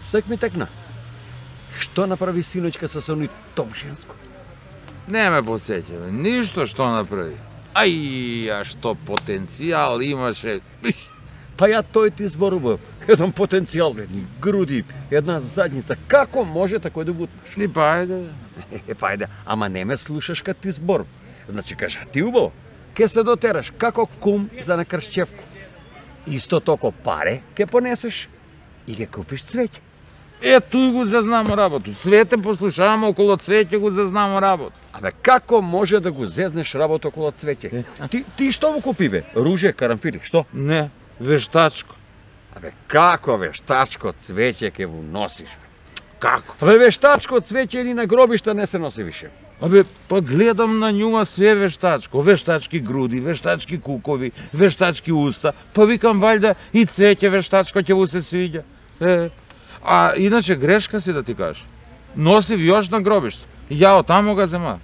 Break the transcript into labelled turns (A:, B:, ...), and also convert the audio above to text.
A: Сак ми текна. Што направи синоќка со сони топ женско?
B: Не ме посеќаве, ништо што направи. А што потенцијал имаше.
A: Па ја тој ти зборував. Еден потенцијал, бредни, груди, една задница. Како може такој да бутнеш?
B: Ни па ајде.
A: Па ајде, ама не ме слушаш кад ти збор. Значи кажа ти убаво. Ке се дотераш како кум за на кршчевку. Исто токо паре ке понесеш и ке купиш цвеќе.
B: Тој го зазнамо работу. Свете послушаваме около цвеќе го зазнамо работу.
A: Абе, како може да го зезнеш работа около цвеќе? Ти што го купи, бе? Руже, карамфили, што?
B: Не, вештачко.
A: Абе, како вештачко цвеќе ке го носиш, бе?
B: Како?
A: Абе, вештачко цвеќе ни на гробишта не се носи више.
B: Абе, па гледам на њума све вештачко. Вештачки груди, вештачки кукови, вештачки уста. Па викам, вајда и цвеќе вештачко ќе му се свиѓа. А иначе грешка си да ти кажеш. Носив још на гробиште. Ја од таму га зема.